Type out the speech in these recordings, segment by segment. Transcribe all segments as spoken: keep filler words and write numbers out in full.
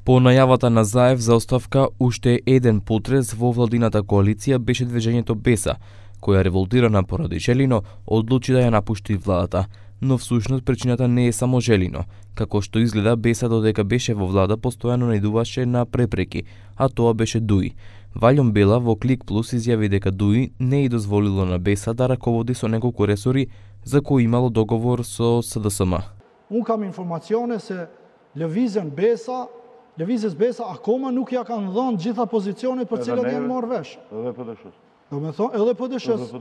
По најавата на Заев за оставка, уште еден потрес во владината коалиција беше движењето Беса, која револтирана поради Желино одлучи да ја напушти владата. Но всушност причината не е само Желино. Како што изгледа, Беса додека беше во влада постојано наидуваше на препреки, а тоа беше Дуи. Валјон Бела во Клик Плюс изјави дека Дуи не и дозволило на Беса да раководи со неколку ресори за кои имало договор со С Д С М. Unë kam informacione se lëvizjen Besa, lëvizjes Besa akoma nuk ja kanë dhënë gjitha pozicionet për cilat janë marrë vesh. Edhe P D S-s. Do me thonë edhe P D S-s.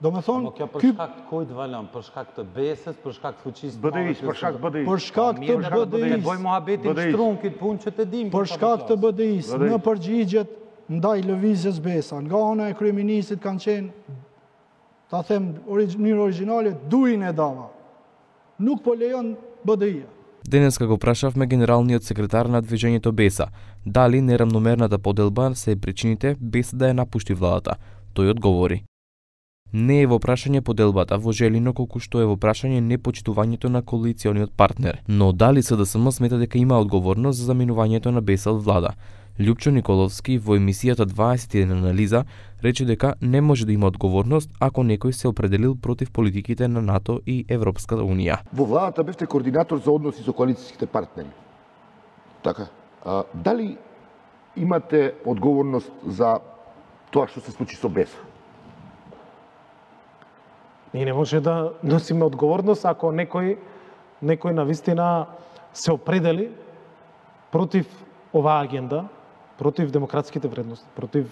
Do me thonë kjo për shkak të kujt Valon, për shkak të Besës, për shkak të fuqisë B D I-s, për shkak të B D I-s. Për shkak të B D I-s. Bëj mohabetin shtrumkit punë që të dimë. Për shkak të B D I-s, në përgjigjet ndaj lëvizjes Besa, nga ana e kryeministit kanë qenë, ta them mënyrë origjinale, Duin e dava. Nuk po lejon B D I-a. Денеска го прашавме генералниот секретар на движењето Беса дали нерамномерната поделба се причините без да ја напушти владата. Тој одговори: не е во прашање поделбата во Желино, колку што е во прашање непочитувањето на коалициониот партнер. Но дали С Д С М смета дека има одговорност за заминувањето на Беса од влада? Љупчо Николовски во емисијата дваесет и еден анализа рече дека не може да има одговорност ако некој се определил против политиките на НАТО и Европската Унија. Во владата бевте координатор за односи со коалицијските партнери. Така, а, дали имате одговорност за тоа што се случи со Беса? Ние не може да носиме одговорност ако некој некој навистина се определи против оваа агенда, против демократските вредности, против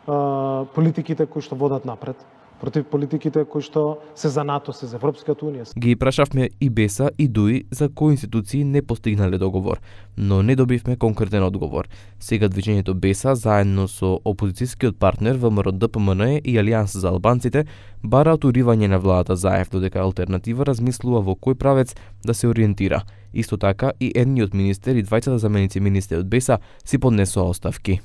а, политиките кои што водат напред, против политиките кои што се за НАТО, се за Европската Унија. Ги прашавме и Беса и Дуи за кои институции не постигнале договор, но не добивме конкретен одговор. Сега движењето Беса заедно со опозицијскиот партнер В М Р Д П М Н Е и Алијанс за албанците бараат уривање на владата Заев, додека алтернатива размислува во кој правец да се ориентира. Исто така и едниот министер и двајцата заменици министри од Беса си поднесоа оставки.